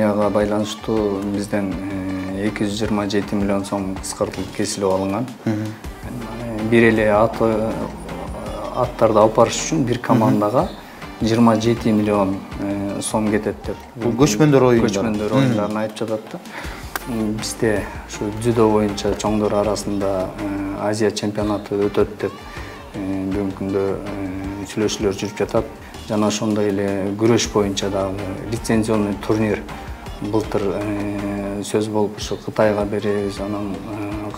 Пандемияга байланыштуу бизден 227 миллион сом кыскартылып кесилип алынган. Бир эле аттарды алып барыш үчүн бир командага 27 миллион сом кетет деп. Бул көчмөндөр оюндарын айтып жатат да. Бизде ушу дзюдо боюнча чоңдор арасында Азия чемпионаты өтөт деп бүгүнкү күндө сүйлөшүүлөр жүрүп жатат. Жана ошондой эле күрөш боюнча дагы лицензионный турнир былтыр сөз болуп ушу Кытайга беребиз, анан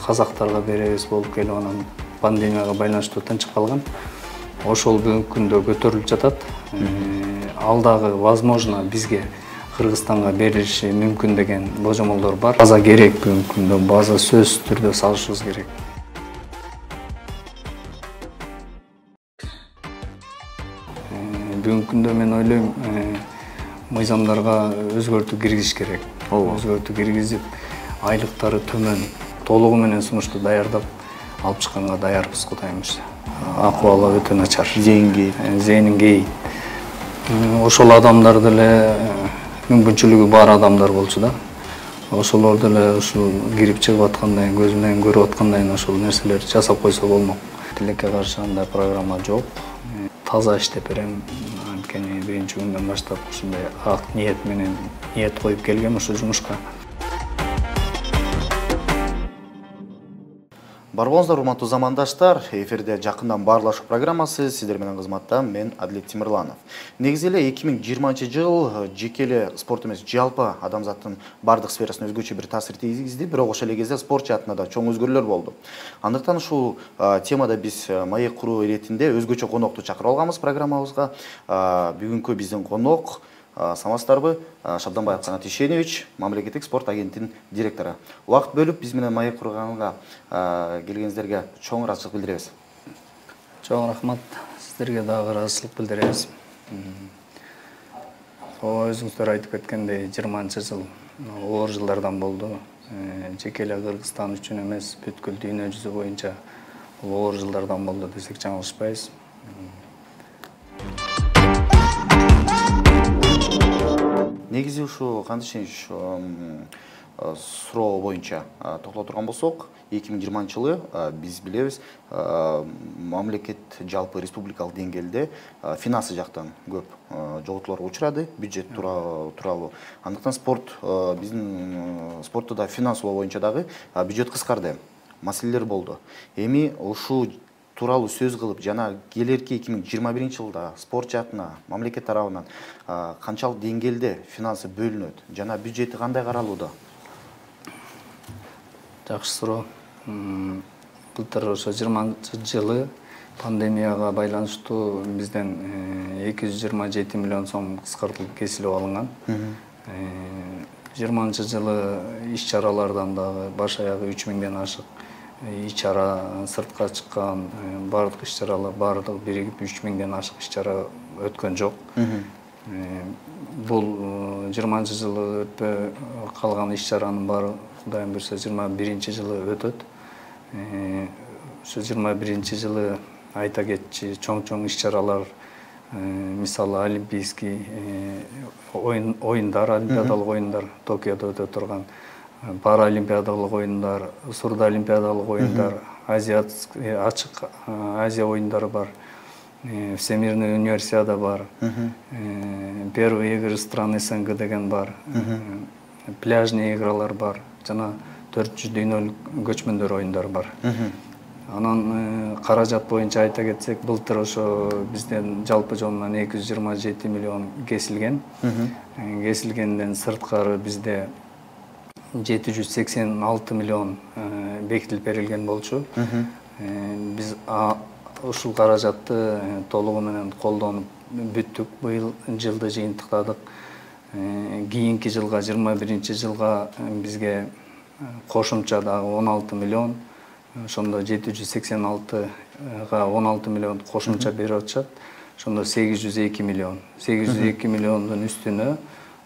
казактарга беребиз болуп келип, анан пандемияга байланыштуу тынчып калган. Ошол бүгүнкү күндө көтөрүлүп жатат. Ал дагы возможно бизге Кыргызстанга берилиши мүмкүн деген божомолдор бар. База керек бүгүнкү күндө, база сөзсүз түрдө салышыбыз керек. Бүгүнкү күндө мен ойлойм, мыйзамдарга өзгөртүү киргизиш керек. Өзгөртүү киргизип, айлыктары төмөн, толугу менен сунушту даярдап алып чыкканга даярбыз, Кудайым буйрса. Акыбалы өтө начар. Зээнин кейит. Ошол адамдар деле мүмкүнчүлүгү бар адамдар болчу да. Ошолор деле ушул кирип чыгып аткандай, көз менен көрүп аткандай ошол нерселерди жасап койсо болмок. Тилекке каршы андай программа жок. Таза иштеп берем. Анткени биринчи күндөн баштап ушундай ак ниет менен ниет коюп келгем ушул жумушка. Бар болуңуздар, урматтуу замандаштар. Эфирде жакындан баарлашуу программасы, сиздер менен кызматта мен Адилет Тимирланов. Негизи эле 2020-жыл жеке эле спорт эмес, жалпы адамзаттын бардык сферасына өзгөчө бир таасир тийгизди, бирок ошол эле кезде спорт жаатында да чоң өзгөрүүлөр болду. Андыктан ушул темада биз маек куруу иретинде өзгөчө конокту чакырып алганбыз программабызга. Бүгүнкү биздин конок Самастарбы Шабданбай Канат Ишенович, мамлекеттик спорт агенттигинин директору. Убакыт бөлүп биз менен маек курганга келгениңиздерге чоң ыраазычылык билдиребиз. Чоң рахмат, сиздерге дагы ыраазычылык билдиребиз. Өзүңүздөр айтып кеткендей, 20-жыл оор жылдардан болду. Жеке эле Кыргызстан үчүн эмес, бүткүл дүйнө жүзү боюнча оор жылдардан болду десек жаңылышпайбыз. Негизи ушу кантишинч суроо боюнча токтоло турган болсок, 2020-жылы биз билебиз, мамлекет жалпы республикалык деңгээлде финансы жактан көп жоготууларга учурады, бюджет тууралуу. Андыктан биздин спортто финансылоо боюнча дагы бюджет кыскарды, маселелер болду. Эми ушул тууралуу сөз кылып, жана келерки 2021-жылда спорт жаатына мамлекет тарабынан канчалык деңгээлде финансы бөлүнөт, жана бюджети кандай каралууда? Жакшы суроо. Былтыр ошо 20-жылы пандемияга байланыштуу бизден 227 миллион сом кыскартылып кесилип алынган. 20-жылы иш-чаралардан дагы баш аягы 3000ден ашык иш-чара, сыртка чыккан бардык иш-чаралар бардыгы биригип 3000ден ашык иш-чара өткөн жок. Бул 20-жылы өтпөй калган иш-чаранын баары Кудайым буйрса 21-жылы өтөт. Ошо 21-жылы айта кетчи чоң иш-чаралар, мисалы олимпийский оюндар, олимпиадалык оюндар Токиодо өтө турган, паралимпиадалык оюндар, сурдоолимпиадалык оюндар, ачык Азия оюндары бар, Всемирный универсиада бар, первые игры стран СНГ деген бар, пляжный игралар бар, жана 400 дүйнөлүк көчмөндөр оюндары бар. Анан каражат боюнча айта кетсек, былтыр ошо бизден жалпы жонунан 227 миллион кесилген. Кесилгенден сырткары бизде 786 миллион бекитилип берилген болчу. Биз ушул каражатты толугу менен колдонуп бүттүк. Быйыл жылды жыйынтыктадык. Кийинки жылга, 21-жылга бизге кошумча дагы 16 миллион, ошондо 786га 16 миллион кошумча берип атышат. Ошондо 802 миллион. 802 миллиондун үстүнө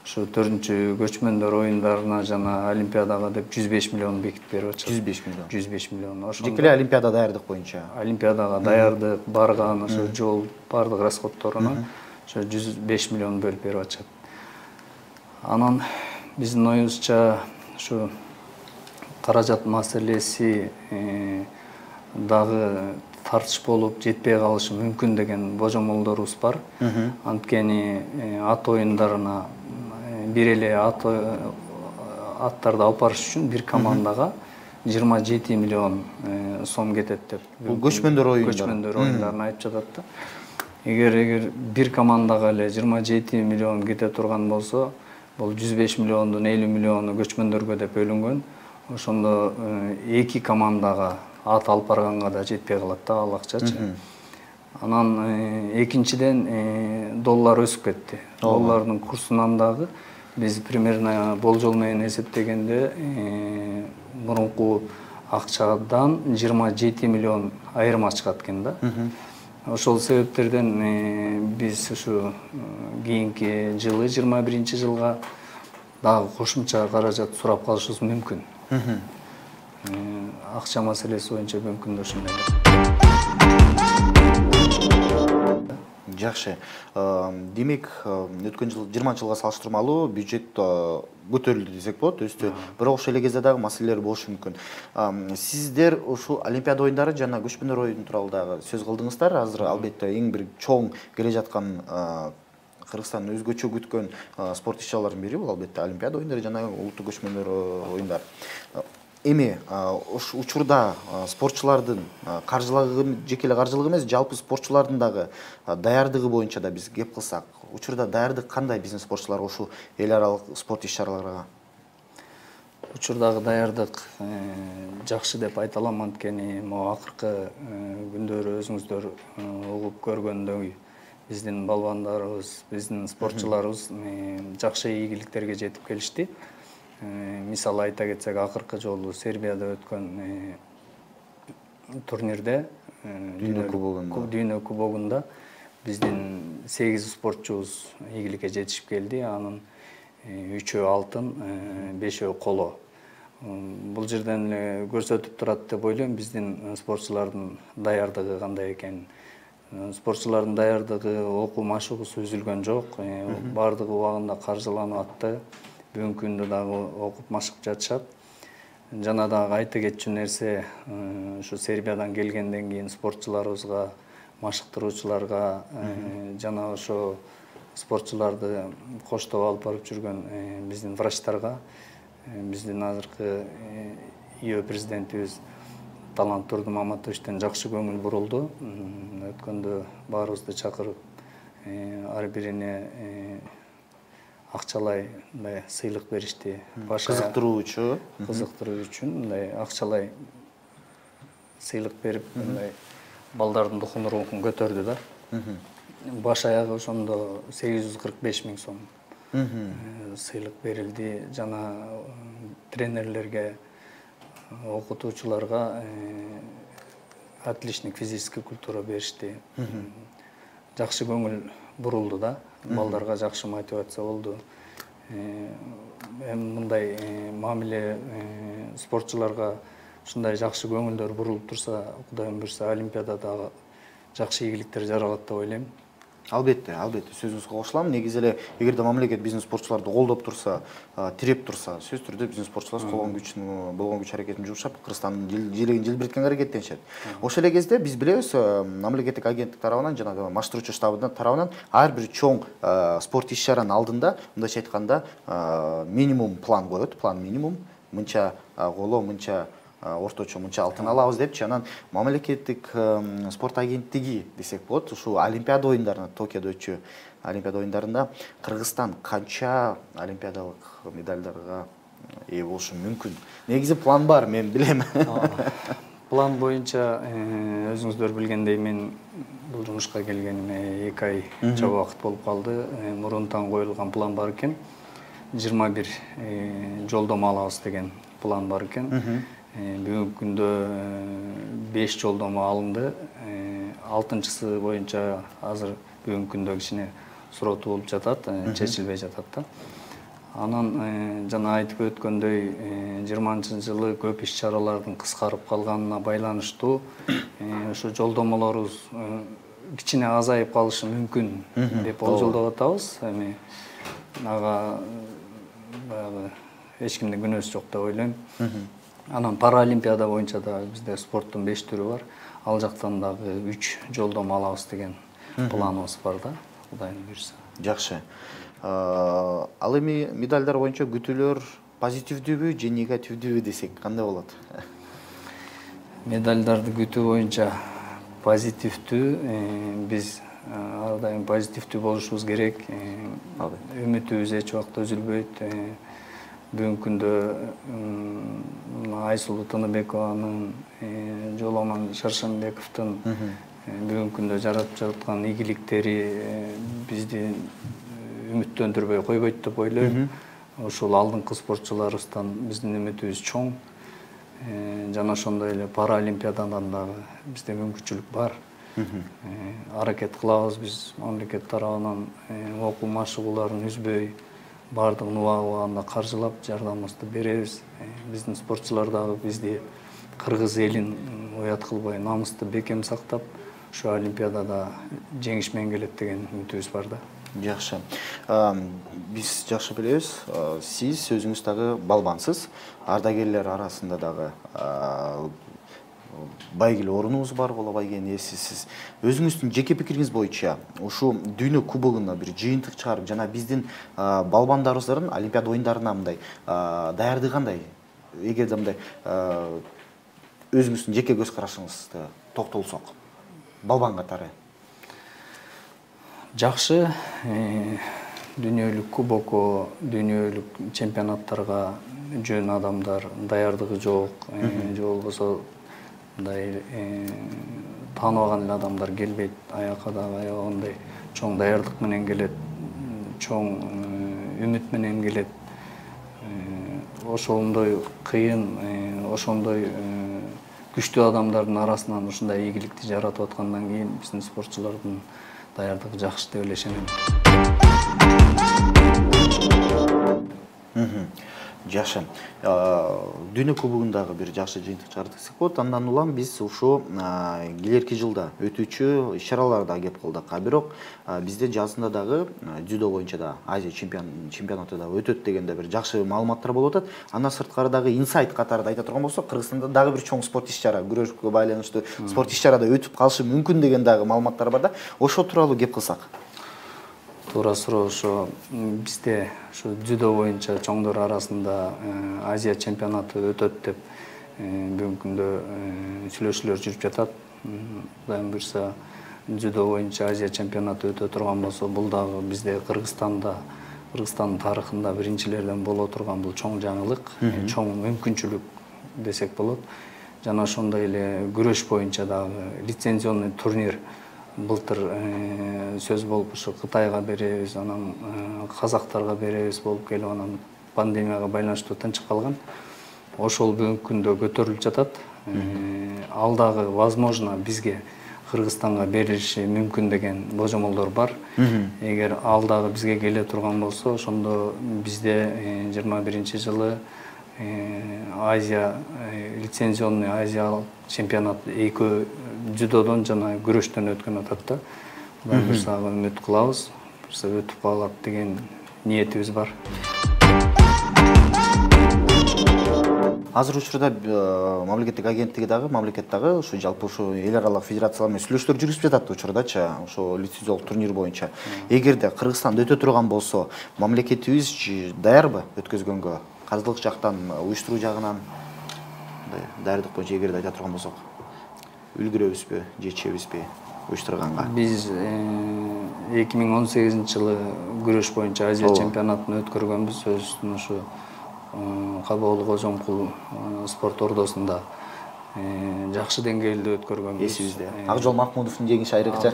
ушу 4-чү көчмөндөр оюндарына жана олимпиадага деп 105 миллион бекитип берип атышат. 105 миллион. 105 миллион. Жеке эле олимпиада даярдык боюнча. Олимпиадага даярдык, барган, ошо жол бардык расходторуна ошо 105 миллион бөлүп берип атышат. Анан биздин оюбузча ушу каражат маселеси дагы тартыш болуп жетпей калышы мүмкүн деген божомолдорубуз бар. Анткени ат оюндарына бир эле аттарды алып барыш үчүн бир командага 27 миллион сом кетет деп. Бул көчмөндөр оюндарын айтып жатат да. Эгер бир командага эле 27 миллион кете турган болсо, бул 105 миллиондун 50 миллиону көчмөндөргө деп бөлүнгөн. Ошондо эки командага ат алып барганга да жетпей калат да ал акчачы. Анан экинчиден доллар өсүп кетти. Доллардын курсунан дагы биз примерно болжол менен эсептегенде мурунку акчадан 27 миллион айырма чыгат экен да. Ошол себептерден биз ушу кийинки жылы 21-жылга дагы кошумча каражат сурап калышыбыз мүмкүн. Акча маселеси боюнча мүмкүн ушундай. Жакшы. Демек, өткөн жыл 20-жылга салыштырмалуу бюджет көтөрүлдү десек болот, өстү. Бирок ошол эле кезде дагы маселелер болушу мүмкүн. Сиздер ушул Олимпиада оюндары жана көчмөндөр оюну тууралуу дагы сөз кылдыңыздар. Азыр албетте эң бир чоң келе жаткан Кыргызстандын өзгөчө күткөн спорт иш-чараларынын бири бул албетте Олимпиада оюндары жана улуттук көчмөндөр оюндары. Эми ошол учурда спортчулардын жеке эле каржылыгы эмес, жалпы спортчулардын дагы даярдыгы боюнча да биз кеп кылсак, учурда даярдык кандай биздин спортчуларга ушул эл аралык спорт иш-чараларга? Учурдагы даярдык жакшы деп айта алам, анткени могу акыркы күндөрү өзүңүздөр угуп көргөндөй биздин балбандарыбыз, биздин спортчуларыбыз жакшы ийгиликтерге жетип келишти. Мисалы айта кетсек, акыркы жолу Сербияда өткөн турнирде, дүйнө кубогунда биздин 8 спортчубуз ийгиликке жетишип келди. Анын 3-өө алтын, 5-өө коло. Бул жерден эле көрсөтүп турат деп ойлойм биздин спортчулардын даярдыгы кандай экенин. Спортчулардын даярдыгы, окуу машыгуусу үзүлгөн жок. Бардыгы убагында каржыланып атты. Бүгүнкү күндө дагы окуп машыгып жатышат. Жана дагы айта кетчү нерсе, ушу Сербиядан келгенден кийин спортчуларыбызга, машыктыруучуларга жана ошо спортчуларды коштоп алып барып жүргөн биздин врачтарга, биздин азыркы ИО президентибиз Талант Турдумаматовичтен жакшы көңүл бурулду. Өткөндө баарыбызды чакырып, ар бирине акчалай мындай сыйлык беришти. Кызыктыруучу үчүн мындай акчалай сыйлык берип, мындай балдардын рухун көтөрдү да. Баш аягы ошондо 845 000 сом сыйлык берилди. Жана тренерлерге, окутуучуларга отличник физическая культура беришти. Жакшы көңүл бурулду да. Балдарга жакшы мотивация болду. Мындай мамиле спортчуларга ушундай жакшы көңүлдөр бурулуп турса, Кудайым буйрса, Олимпиадада жакшы ийгиликтер жаралат деп ойлойм. Албетте, сөзүңүзгө кошулам. Негизи эле эгерде мамлекет биздин спортчуларды колдоп турса, тиреп турса, сөзсүз түрдө биздин спортчулар болгон күч аракетин жумшап, Кыргызстандын желегин желбиреткенге аракеттенишет. Ошол эле кезде биз билебиз, мамлекеттик агенттик тарабынан жана маштыруучу штабы тарабынан ар бир чоң спорт иш-чаранын алдында, мындайча айтканда, минимум план коет, план минимум, мынча коло, мынча орточо, мынча алтын алабыз депчи. Анан мамлекеттик спорт агенттиги десек болот, ушул Олимпиада оюндарына, Токиодо өтчү Олимпиада оюндарында Кыргызстан канча олимпиадалык медалдарга ээ болушу мүмкүн? Негизи план бар, мен билем. План боюнча өзүңүздөр билгендей, мен бул жумушка келгениме 2 ай чоң убакыт болуп калды. Мурунтан коюлган план бар экен. 21 жолдомо алабыз деген план бар экен. Бүгүнкү күндө 5 жолдомо алынды. 6-чысы боюнча азыр бүгүнкү күндө кичине суроту болуп жатат, чечилбей жатат да. Анан жана айтып өткөндөй 20-жылы көп иш-чаралардын кыскарып калганына байланыштуу ошо жолдомолорубуз кичине азайып калышы мүмкүн деп болжолдоп атабыз. Эми ага баягы эч кимдин күнөөсү жок деп ойлойм. Анан паралимпиада боюнча да бизде спорттун 5 түрү бар. Ал жактан дагы 3 жолдомо алабыз деген планыбыз бар да, Кудайым буйрса. Жакшы. Ал эми медалдар боюнча күтүүлөр позитивдүүбү же негативдүүбү десек кандай болот? Медалдарды күтүү боюнча позитивдүү, биз ар дайым позитивдүү болушубуз керек. Үмүтүбүз эч убакта үзүлбөйт. Бүгүнкү күндө Айсулуу Тыныбекованын, Жоламан Шаршембековдун бүгүнкү күндө жаратып жаткан ийгиликтери бизди үмүттөндүрбөй койбойт деп ойлойм. Ошол алдыңкы спортчуларыбыздан биздин үмүтүбүз чоң. Жана ошондой эле паралимпиададан дагы бизде мүмкүнчүлүк бар. Аракет кылабыз биз мамлекет тарабынан окуу машыгууларын үзбөй, баардыгын убагында каржылап жардамыбызды беребиз. Биздин спортчулар дагы бизди кыргыз элин уят кылбай, намысты бекем сактап, ушу олимпиадада жеңиш менен келет деген үмүтүбүз бар да. Жакшы. Биз жакшы билебиз, сиз өзүңүз дагы балбансыз, ардагерлер арасында дагы байгеле орунубуз бар болобой эсиз. Сиз өзүңүздүн жеке пикириңиз боюнча ушу дүйнө кубогуна бир жыйынтык чыгарып, жана биздин балбандарыбыздын Олимпиада оюндарына мындай даярдыгы кандай? Эгерде мындай өзүңүздүн жеке көз карашыңызды токтолсок, балбан катары. Жакшы, дүйнөлүк кубокко, дүйнөлүк чемпионаттарга жөн адамдар даярдыгы жок, же болбосо мындай тааныбаган эле адамдар келбейт. Аякка дагы аябагандай чоң даярдык менен келет, чоң үмүт менен келет. Ошондой кыйын, ошондой күчтүү адамдардын арасынан ушундай ийгиликти жаратып аткандан кийин биздин спортчулардын даярдыгы жакшы деп эле ишенем. Жакшы. Дүйнө кубогундагы бир жакшы жыйынтык чыгардык десек болот. Андан улам биз ушу келерки жылда өтүүчү иш-чараларда кеп калдык. Бирок бизде жазында дагы дзюдо боюнча да Азия чемпионаты да өтөт дегенде бир жакшы маалыматтар болуп атат. Андан сырткары дагы инсайт катарында айта турган болсок, Кыргызстанда дагы бир чоң спорт иш-чара, күрөшкө байланыштуу спорт иш-чарада өтүп калышы мүмкүн деген дагы маалыматтар бар да. Ошо тууралуу кеп кылсак. Туура суроо. Ошо бизде ушу дзюдо боюнча чоңдор арасында Азия чемпионаты өтөт деп бүгүнкү күндө сүйлөшүүлөр жүрүп жатат. Кудайым буйрса дзюдо боюнча Азия чемпионаты өтө турган болсо, бул дагы бизде Кыргызстандын тарыхында биринчилерден боло турган бул чоң жаңылык, чоң мүмкүнчүлүк десек болот. Жана ошондой эле күрөш боюнча дагы лицензионный турнир былтыр сөз болуп ушу Кытайга беребиз, анан казактарга беребиз болуп келип, анан пандемияга байланыштуу тынчып калган. Ошол бүгүнкү күндө көтөрүлүп жатат. Ал дагы возможно бизге Кыргызстанга берилиши мүмкүн деген божомолдор бар. Эгер ал дагы бизге келе турган болсо, ошондо бизде 21-жылы Азия лицензионный Азия чемпионат экөө дзюдодон жана күрөштөн өткөн атат да. Кудай буйрса үмүт кылабыз, өтүп калат деген ниетибиз бар. Азыр учурда мамлекеттик агенттиги дагы, мамлекет дагы ушу жалпы ушу эл аралык федерациялар менен сүйлөшүүлөр жүргүзүп жатат учурдачы, ошо лицензиялык турнир боюнча. Эгерде Кыргызстанда өтө турган болсо, мамлекетибиз даярбы өткөзгөнгө? Казылык жактан, уюштуруу жагынан даярдык боюнча эгерде айта турган болсок, үлгүрөбүзбү, жетишебизби уюштурганга? Биз 2018-жылы күрөш боюнча Азия чемпионатын өткөргөнбүз. Өзүбүздүн ушу Кабоолу Кожомкул спорт ордосунда жакшы деңгээлде өткөргөнбүз. Эсибизде. Акжол Махмудовдун жеңиши айрыкча.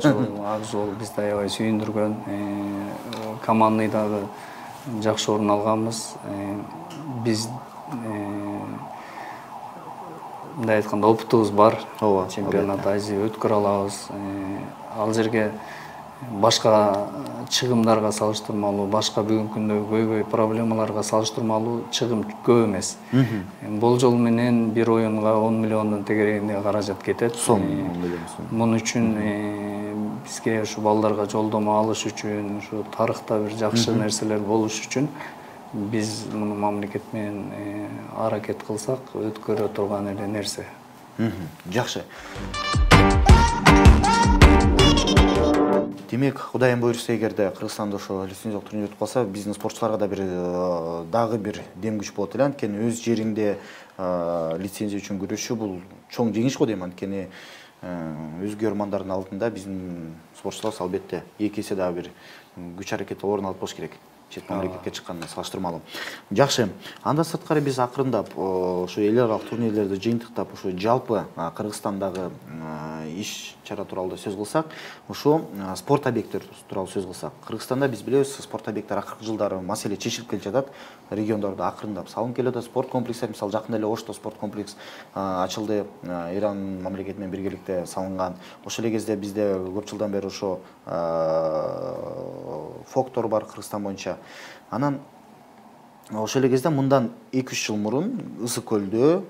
Акжол бизди аябай сүйүндүргөн. Командный дагы жакшы орун алганбыз. Биз мындай айтканда опытыбыз бар. Чемпионат Азия өткөрө алабыз. Ал жерге башка чыгымдарга салыштырмалуу, башка бүгүнкү күндө көйгөй проблемаларга салыштырмалуу чыгым көп эмес. Болжол менен бир оюнга 10 миллиондон тегерегинде каражат кетет. Мун үчүн бизге ушу балдарга жолдомо алыш үчүн, ушу тарыхта бир жакшы нерселер болуш үчүн биз муну мамлекет менен аракет кылсак өткөрө турган эле нерсе. Жакшы. Демек, Кудайым буйрса, эгерде Кыргызстанда ошо лицензиялык турнир өтүп калса, биздин спортчуларга да дагы бир дем күч болот эле. Анткени өз жериңде лицензия үчүн күрөшүү бул чоң жеңиш го дейм. Анткени өзгө ормандардын алдында биздин спортчулар албетте эки эсе дагы бир күч аракет орун алып болуш керек. Чет мамлекетке чыккандан салыштырмалуу. Жакшы. Андан сырткары биз акырындап ошо эл аралык турнирлерди жыйынтыктап, ошо жалпы Кыргызстандагы иш чара тууралуу сөз кылсак, ошо спорт объекттери тууралуу сөз кылсак, Кыргызстанда биз билебиз, спорт объекттери акыркы жылдары маселе чечилип келе жатат. Региондордо акырындап салынып келет. Спорт комплекстер, мисалы жакында эле Ошто спорт комплекс ачылды, Иран мамлекети менен биргеликте салынган. Ошол эле кезде бизде көп жылдан бери ошо фоктор бар Кыргызстан боюнча. Анан ошол эле кезде мындан 2-3 жыл мурун Ысык көлдө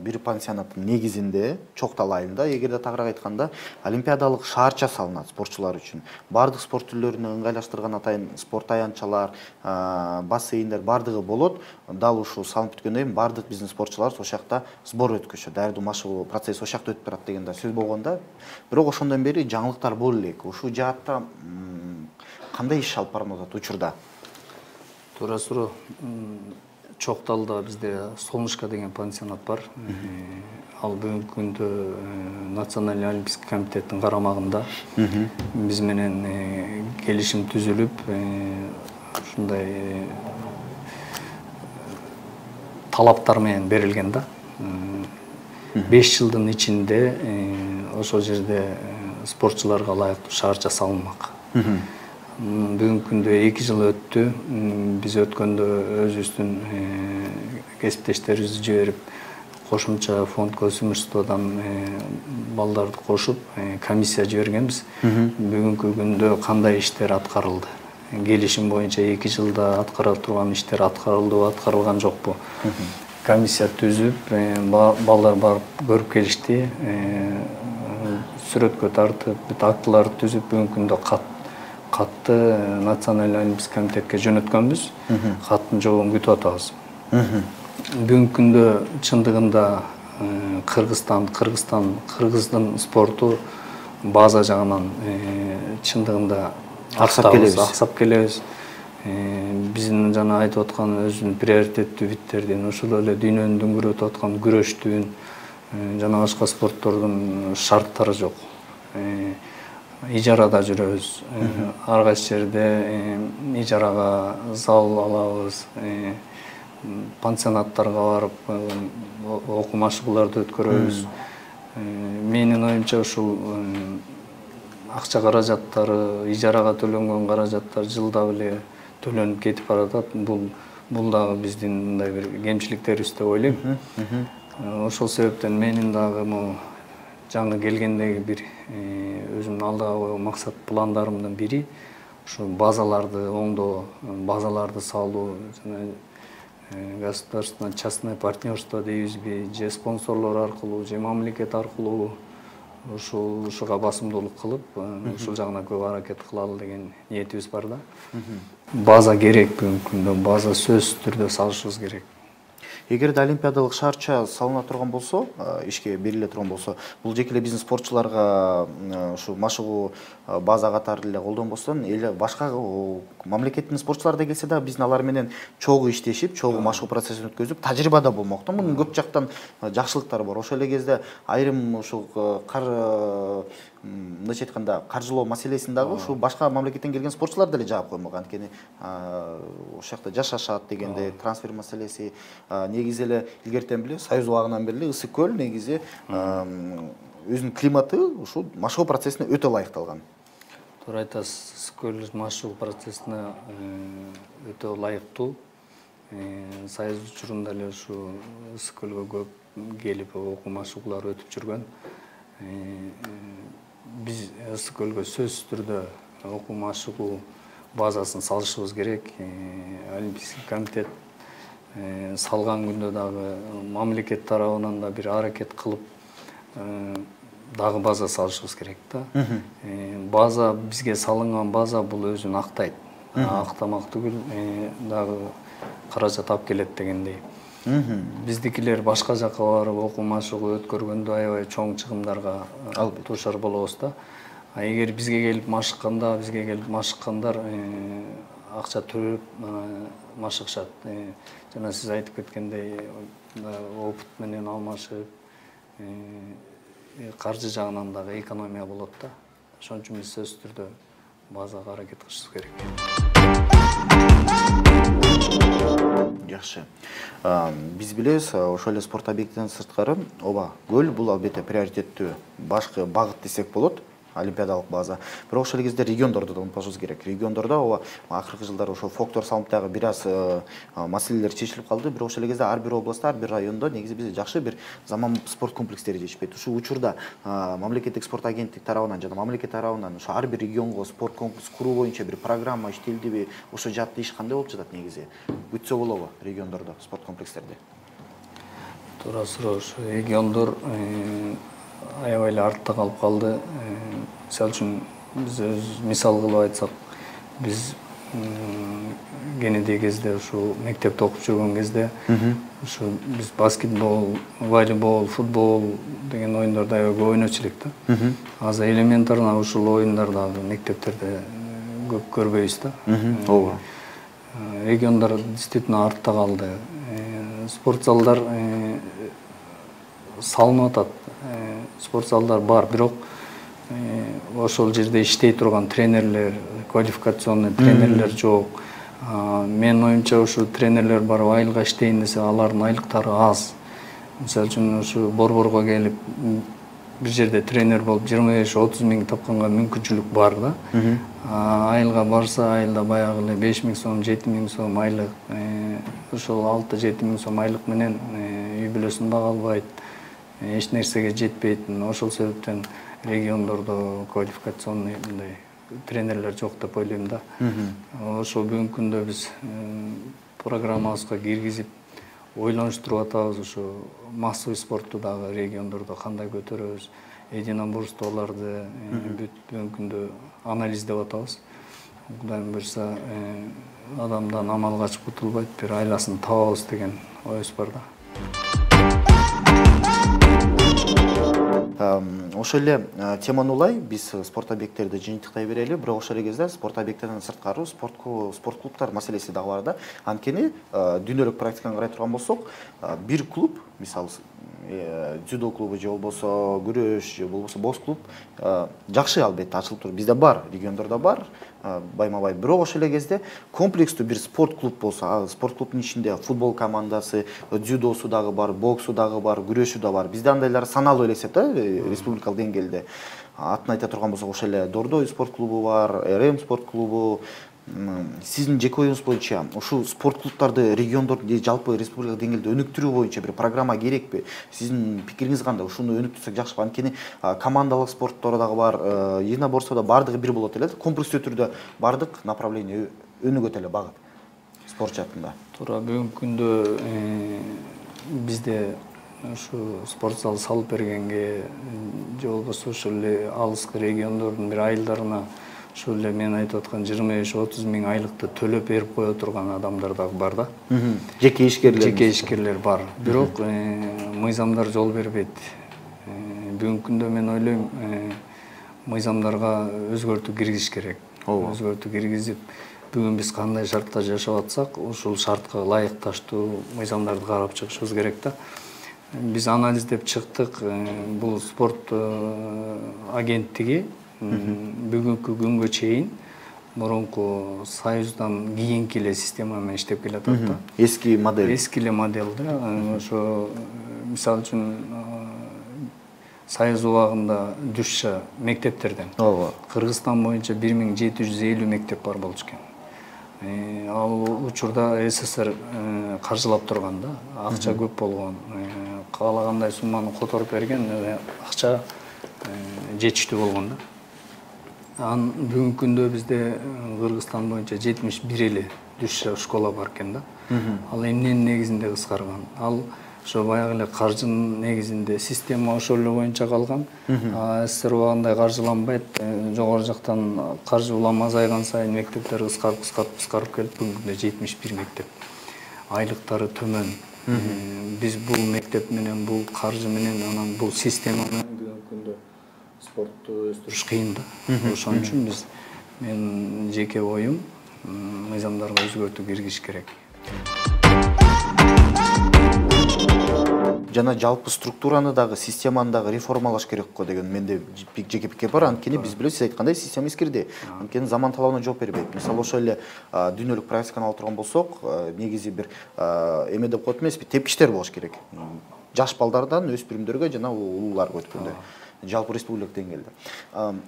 бир пансионаттын негизинде, Чоктал айылында, эгерде тагыраак айтканда, олимпиадалык шаарча салынат спортчулар үчүн. Бардык спорт түрлөрүнө ыңгайлаштырган атайын спорт аянтчалар, бассейндер бардыгы болот. Дал ушул салынып бүткөндөн кийин бардык биздин спортчулар ошол жакта сбор өткөзөт. Даярдоо машыгуу процесси ошол жакта өтүп турат деген да сөз болгондо, бирок ошондон бери жаңылыктар боло элек. Ушул жаатта кандай иш алып барылып атат учурда? Туура-туура. Чокталда бизде Солнышко деген пансионат бар. Ал бүгүнкү күндө Национальный олимпийский комитеттин карамагында. Биз менен келишим түзүлүп, ушундай талаптар менен берилген да. 5 жылдын ичинде ошол жерде спортчуларга ылайыктуу шаарча салынмак. Бүгүнкү күндө 2 жыл өттү. Биз өткөндө өзүбүздүн кесиптештерибизди жиберип, кошумча фонд көзөмөлчүсүнөн балдарды кошуп, комиссия жибергенбиз. Бүгүнкү күндө кандай иштер аткарылды? Келишим боюнча 2 жылда аткара турган иштер аткарылдыбы, аткарылган жокпу? Комиссия түзүп, балдар барып көрүп келишти. Сүрөткө тартып, бүт актыларды түзүп, бүгүнкү күндө катты Национальный олимпийский комитетке жөнөткөнбүз. Каттын жообун күтүп атабыз. Бүгүнкү күндө чындыгында Кыргыздын спорту база жагынан чындыгында аксап келебиз. Биздин жана айтып аткан өзүнүн приоритеттүү биттердин, ошол эле дүйнөнүн дүңгүрөтүп аткан күрөштүн жана башка спорттордун шарттары жок. Ижарада жүрөбүз. Ар кайсы жерде ижарага зал алабыз. Пансионаттарга барып окуу машыгууларды өткөрөбүз. Менин оюмча ушул акча каражаттары, ижарага төлөнгөн каражаттар жылда эле төлөнүп кетип баратат. Бул дагы биздин мындай бир кемчиликтерибиз деп ойлойм. Ошол себептен менин дагы жаңы келгендеги бир өзүмдүн алдыга койгон максат пландарымдын бири ушу базаларды оңдоо, базаларды салуу, жана государственно частное партнерство дейбизби, же спонсорлор аркылуу, же мамлекет аркылуу ушуга басымдуулук кылып, ушул жагына көп аракет кылалы деген ниетибиз бар да. База керек бүгүнкү күндө, база сөзсүз түрдө салышыбыз керек. Эгерде олимпиадалык шаарча салына турган болсо, ишке бериле турган болсо, бул жеке эле биздин спортчуларга ушу машыгуу база катары эле колдонбостон, башка мамлекеттин спортчулары да келсе да, биздин алар менен чогуу иштешип, чогуу машыгуу процессин өткөзүп, тажрыйба да болмок. Мунун көп жактан жакшылыктары бар. Ошол эле кезде айрым ушул мындайча айтканда каржылоо маселесин дагы ушул башка мамлекеттен келген спортчулар деле жаап коймок. Анткени ошол жакта жашашат дегенде трансфер маселеси негизи эле илгертен биле Союз убагынан бери Ысык көл негизи өзүнүн климаты ушул машыгуу процессине өтө ылайыкталган. Туура айтасыз, Ысык көл машыгуу процессине өтө ылайыктуу. Союз учурунда эле ушу Ысык көлгө көп келип окуу машыгуулар өтүп жүргөн. Биз Ысык көлгө сөзсүз түрдө окуу машыгуу базасын салышыбыз керек. Олимпийский комитет салган күндө дагы мамлекет тарабынан да бир аракет кылып дагы база салышыбыз керек да. База, бизге салынган база бул өзүн актайт. Актамак түгүл, дагы каражат алып келет дегендей. Биздикилер башка жакка барып окуу машыгуу өткөргөндө аябай чоң чыгымдарга дуушар болобуз да. Эгер бизге келип машыккандар акча төлөп машыгышат. Жана сиз айтып кеткендей опыт менен алмашып, каржы жагынан дагы экономия болот да. Ошон үчүн биз сөзсүз түрдө базага аракет кылышыбыз керек. Жакшы. Биз билебиз, ошол эле спорт объектинен сырткары ооба көл бул албетте приоритеттүү башкы багыт десек болот. Олимпиадалык база. Бирок ошол кезде региондорду да унутпашыбыз керек. Региондордо ооба акыркы жылдары ошол фолклор салынып дагы бир аз маселелер чечилип калды. Бирок ошол кезде ар бир областта, ар бир райондо негизи бизде жакшы бир заманбап спорт комплекстери жетишпейт. Ушул учурда мамлекеттик спорт агенттик тарабынан жана мамлекет тарабынан ошо ар бир регионго спорт комплекс куруу боюнча бир программа иштелдиби? Ошо жаатта иш кандай болуп жатат негизи? Бүтсө болобу региондордо спорт комплекстерде? Туура суроо. Региондор аябай эле артта калып калды. Мисалы үчүн биз мисал кылып айтсак, биз кенеде кезде ушу мектепте окуп жүргөн кезде ушу биз баскетбол, волейбол, футбол деген оюндарды аябай көп ойночу элек да. Азыр элементарно ушул оюндарды мектептерде көп көрбөйбүз да. Ооба. Региондар действительно артта калды. Спорт залдар салынып атат. Спорт залдар бар, бирок ошол жерде иштей турган тренерлер, квалификационный тренерлер жок. Менин оюмча ушу тренерлер барып айылга иштейин десе, алардын айлыктары аз. Мисалы үчүн ушу борборго келип бир жерде тренер болуп 25-30 миң тапканга мүмкүнчүлүк бар да. Айылга барса, айылда баягы эле 5 миң сом, 7 миң сом айлык, ошол 6-7 миң сом айлык менен үй бүлөсүн бага албайт. Эч нерсеге жетпейт. Ошол себептен региондордо квалификационный мындай тренерлер жок деп ойлойм да. Ошо бүгүнкү күндө биз программабызга киргизип ойлонуштуруп атабыз. Ушу массовый спортту дагы региондордо кандай көтөрөбүз, единоборстволорду бүгүнкү күндө анализдеп атабыз. Кудайым буйрса, адамдан амал качып кутулбайт, бир айласын табабыз деген оюбуз бар да. Ошол эле теманы улай биз спорт объекттерди жыйынтыктай берели, бирок ошол эле кезде спорт объекттеринен сырткары спорт клубтар маселеси дагы бар да. Анткени дүйнөлүк практиканы карай турган болсок, бир клуб, мисалы дзюдо клубу же болбосо күрөш же болбосо бокс клуб жакшы албетте ачылып туруп, бизде бар, региондордо бар, байма-бай. Бирок ошол эле кезде комплекстүү бир спорт клуб болсо, спорт клубдун ичинде футбол командасы, дзюдосу дагы бар, боксу дагы бар, күрөшү да бар. Бизде андайлар саналуу элестет да, республикалык деңгээлде. Атын айта турган болсок, ошол эле Дордой спорт клубу бар, РМ спорт клубу. Сиздин жеке оюңуз боюнча ушул спорт клубтарды региондор же жалпы республикалык деңгээлде өнүктүрүү боюнча бир программа керекпи? Сиздин пикириңиз кандай? Ушуну өнүктүрсөк жакшыбы? Анткени командалык спорттор дагы бар, единоборстводо бардыгы бир болот эле. Комплекстүү түрдө бардык направление өнүгөт эле багыт спорт жаатында. Туура, бүгүнкү күндө бизде ушу спорт зал салып бергенге же болбосо ошол эле алыскы региондордун бир айылдарына ошол эле мен айтып аткан 25-30 миң айлыкты төлөп берип кое турган адамдар дагы бар да. Жеке ишкерлер бар. Бирок мыйзамдар жол бербейт. Бүгүнкү күндө мен ойлойм, мыйзамдарга өзгөртүү киргизиш керек. Өзгөртүү киргизип, бүгүн биз кандай шартта жашап атсак, ушул шартка ылайыкташтуу мыйзамдарды карап чыгышыбыз керек да. Биз анализдеп чыктык, бул спорт агенттиги бүгүнкү күнгө чейин мурунку союздан кийинки эле система менен иштеп келатат да. Эски модель. Эски эле модель да. Ошо мисалы үчүн союз убагында düşчө мектептерден. Кыргызстан боюнча 1750 мектеп бар болчу экен. Ал учурда СССР каржылап турган да. Акча көп болгон. Каалагандай сумманы которуп берген, акча жетиштүү болгон да. Бүгүнкү күндө бизде Кыргызстан боюнча 71 эле düşчө школа бар экен да. Ал эмненин негизинде кыскарган? Ал ошо баягы эле каржынын негизинде система ошол эле боюнча калган. СССР убагындай каржыланбайт. Жогору жактан каржы улам азайган сайын мектептер кыскарып келип бүгүнкү күндө 71 мектеп. айлыктары төмөн. Биз бул мектеп менен, бул каржы менен, анан бул система менен бүгүнкү күндө спортту өстүрүш кыйын да. Ошон үчүн мен жеке оюм мыйзамдарга өзгөртүү киргизиш керек. Жана жалпы структураны дагы, системаны дагы реформалаш керек го деген менде жеке пикир бар. Анткени биз билебиз, сиз айткандай система эскирди. Анткени заман талабына жооп бербейт. Мисалы ошол эле дүйнөлүк практиканы алып турган болсок, негизи бир эме деп коет эмеспи, тепкичтер болуш керек. Жаш балдардан өспүрүмдөргө жана улууларга өткөндө. Жалпы республикалык деңгээлде.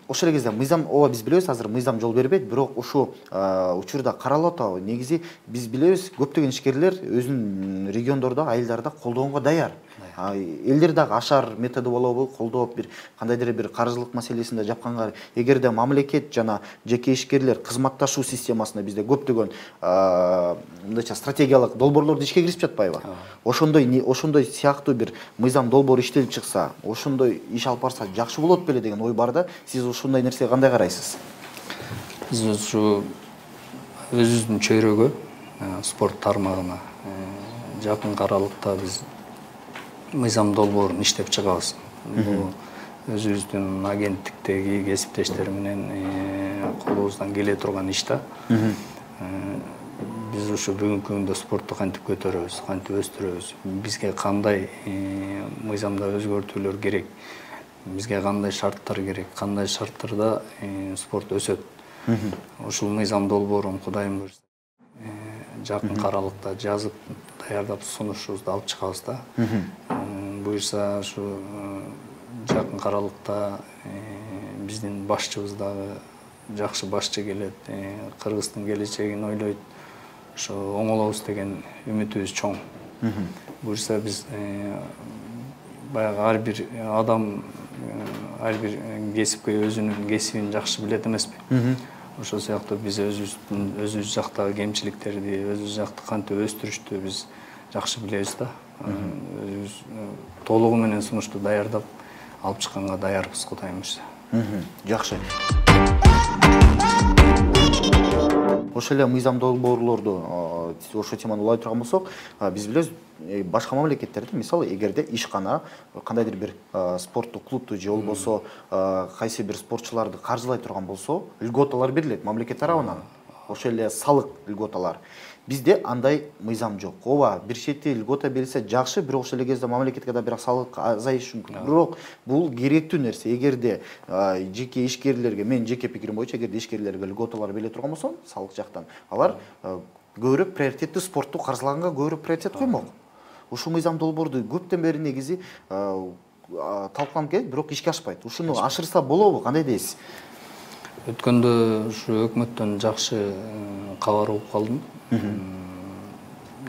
Ошол эле кезде мыйзам, ооба биз билебиз, азыр мыйзам жол бербейт, бирок ушул учурда каралып атабы. Негизи биз билебиз, көптөгөн ишкерлер өзүнүн региондордо, айылдарда колдоонго даяр. Элдер дагы ашар методу болобу, колдоп бир кандайдыр бир каржылык маселесинде жапканга, эгерде мамлекет жана жеке ишкерлер кызматташуу системасында бизде көптөгөн мындайча стратегиялык долбоорлорду ишке киришип жатпайбы? Ошондой сыяктуу бир мыйзам долбоор иштелип чыкса, ошондой иш алып барса жакшы болот беле деген ой бар да. Сиз ушундай нерсеге кандай карайсыз? Биз ушу өзүбүздүн чөйрөгө, спорт тармагына жакын аралыкта биз мыйзам долбоорун иштеп чыгабыз. Бул өзүбүздүн агенттиктеги кесиптештер менен колубуздан келе турган иш да. Биз ушу бүгүнкү күндө спортту кантип көтөрөбүз, кантип өстүрөбүз, бизге кандай мыйзамда өзгөртүүлөр керек, бизге кандай шарттар керек, кандай шарттарда спорт өсөт. Ушул мыйзам долбоорун Кудайым буйрса жакын аралыкта жазып, даярдап сунушубузду алып чыгабыз да. Буйрса ушу жакын аралыкта биздин башчыбыз дагы жакшы башчы келет, Кыргыздын келечегин ойлойт. Ошо оңолобуз деген үмүтүбүз чоң. Буйрса биз баягы ар бир адам, ар бир кесипкөй өзүнүн кесибин жакшы билет эмеспи? Ошол сыяктуу биз өзүбүз жактагы кемчиликтерди, өзүбүз жакты кантип өстүрүштү биз жакшы билебиз да. Өзүбүз толугу менен сунушту даярдап алып чыкканга даярбыз, Кудайым буйрса. Жакшы. Ошол эле мыйзам долбоорлорду ошол теманы улай турган болсок, биз билебиз, башка мамлекеттерде, мисалы, эгерде ишкана кандайдыр бир спорттук клубду же болбосо кайсы бир спортчуларды каржылай турган болсо, льготалар берилет мамлекет тарабынан. Ошол эле салык льготалар. Бизде андай мыйзам жок. Ооба, бир чети льгота берилсе жакшы, бирок ошол эле кезде мамлекетке да бирок салык азайышы мүмкүн. Бирок бул керектүү нерсе. Эгерде жеке ишкерлерге, мен жеке пикирим боюнча, эгерде ишкерлерге льготалар бериле турган болсо, салык жактан, алар көбүрөөк приоритеттүү спортту каржылаганга көбүрөөк приоритет коймок. Ушул мыйзам долбоорду көптөн бери негизи талкууланып келет, бирок ишке ашпайт. Ушуну ашырса болобу? Кандай дейсиз? Өткөндө ушу өкмөттөн жакшы кабар угуп калдым.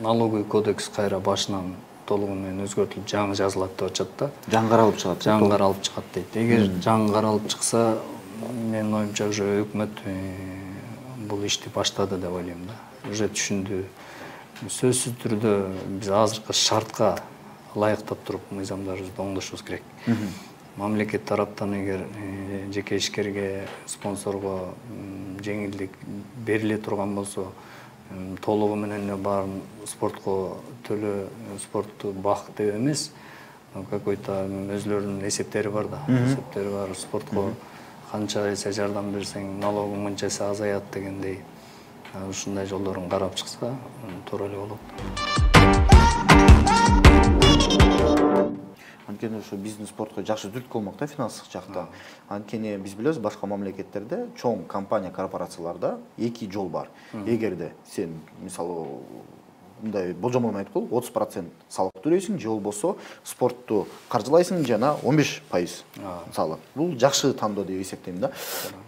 Налоговый кодекс кайра башынан толугу менен өзгөртүлүп жаңы жазылат деп атышат да. Жаңы каралып чыгат. Жаңы каралып чыгат дейт. Эгер жаңы каралып чыкса, менин оюмча уже өкмөт бул ишти баштады деп ойлойм да. Уже түшүндү. Сөзсүз түрдө биз азыркы шартка ылайыктап туруп мыйзамдарыбызды оңдошубуз керек. Мамлекет тараптан эгер жеке ишкерге, спонсорго жеңилдик бериле турган болсо, толугу менен баарын спортко төлөө, спортту бак деп эмес, какой-то өзлөрүнүн эсептери бар да. Эсептери бар, спортко канча эсе жардам берсең, налогуң мынча эсе азаят дегендей. Ушундай жолдорун карап чыкса, туура эле болот. Анткени ушу биздин спортко жакшы түрткү болмок да, финансылык жакта. Анткени биз билебиз, башка мамлекеттерде чоң компания, корпорацияларда эки жол бар. Эгерде сен, мисалы, мындай болжомол менен айткыл, 30% салык төлөйсүң, же болбосо спортту каржылайсың жана 15% салык. Бул жакшы тандоо деп эсептейм да.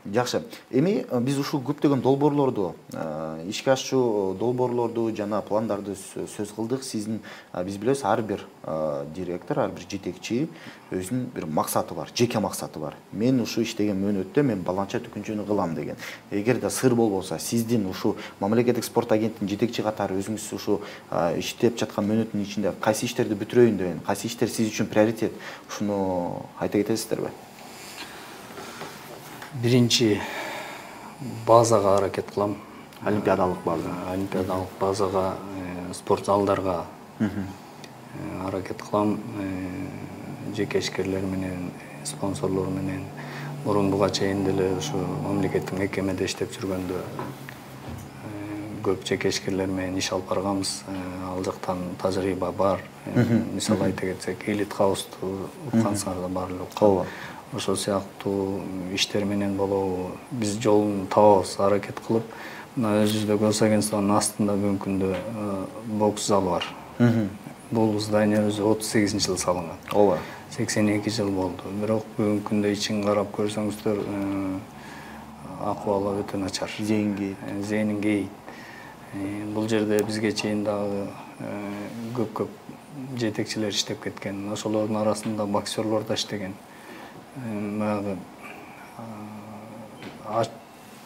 Жакшы. Эми биз ушул көптөгөн долбоорлорду, ишке ашчу долбоорлорду жана пландарды сөз кылдык. Сиздин, биз билебиз, ар бир директор, ар бир жетекчи өзүнүн бир максаты бар, жеке максаты бар. Мен ушу иштеген мөөнөттө мен баланча түкүнчөнү кылам деген. Эгерде сыр болбосо, сиздин ушу мамлекеттик спорт агенттигинин жетекчи катары өзүңүз ушу иштеп жаткан мөөнөттүн ичинде кайсы иштерди бүтүрөйүн деген, кайсы иштер сиз үчүн приоритет, ушуну айта кетесиздерби? Биринчи базага аракет кылам. Олимпиадалык база. Олимпиадалык базага спорт залдарга аракет кылам. Жеке ишкерлер менен, спонсорлор менен мурун буга чейин деле ушу мамлекеттик мекемеде иштеп жүргөндө көп жеке ишкерлер менен иш алып барганбыз. Ал жактан тажрыйба бар. Мисалы айта кетсек, Elite House'ту уккансыңар бар эле. Ооба. Ошол сыяктуу иштер менен болобу биз жолун табабыз, аракет кылып. Мына өзүбүздө Госагентствонун астында бүгүнкү күндө бокс залы бар. Бул здание өзү 38-жылы салынган. Ооба. 82 жыл болду. Бирок бүгүнкү күндө ичин карап көрсөңүздөр, акыбалы өтө начар. Зейнингей. Бул жерде бизге чейин дагы көп жетекчилер иштеп кеткен. Ошолордун арасында боксерлор да иштеген. Баягы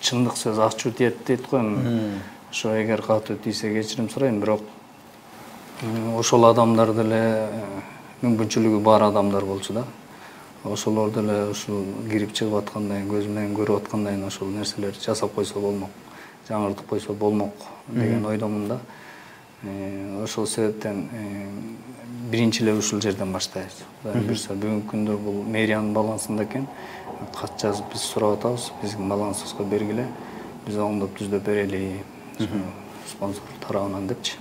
чындык сөз ачуу тиет дейт го. Ошо эгер катуу тийсе кечирим сурайм, бирок ошол адамдар деле мүмкүнчүлүгү бар адамдар болчу да. Ошолор деле ушул кирип чыгып аткандай, көз менен көрүп аткандай ошол нерселерди жасап койсо болмок, жаңыртып койсо болмок деген ойдомун да. Ошол себептен биринчи эле ушул жерден баштайбыз. Бүгүнкү күндө бул мэриянын балансында экен. Кат жазып биз сурап атабыз, биздин балансыбызга бергиле, биз оңдоп түздөп берели, спонсор тарабынан депчи.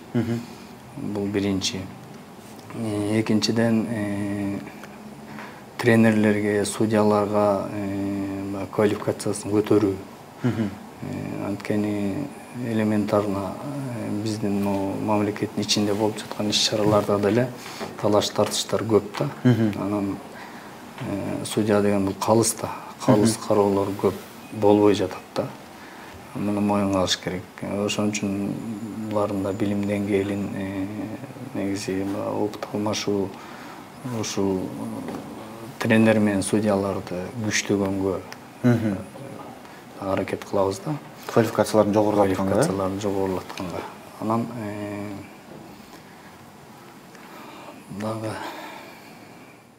Бул биринчи. Экинчиден тренерлерге, судьяларга квалификациясын көтөрүү. Анткени элементарно биздин мамлекеттин ичинде болуп жаткан иш-чараларда деле талаш тартыштар көп да. Анан судья деген бул калыс да. Калыс кароолор көп болбой жатат да. Муну моюнга алыш керек. Ошон үчүн булардын да билим деңгээлин, негизи опыт алмашуу, ушул тренер менен судьяларды күчтөгөнгө аракет кылабыз да. Квалификацияларын жогорулатканга. Анан дагы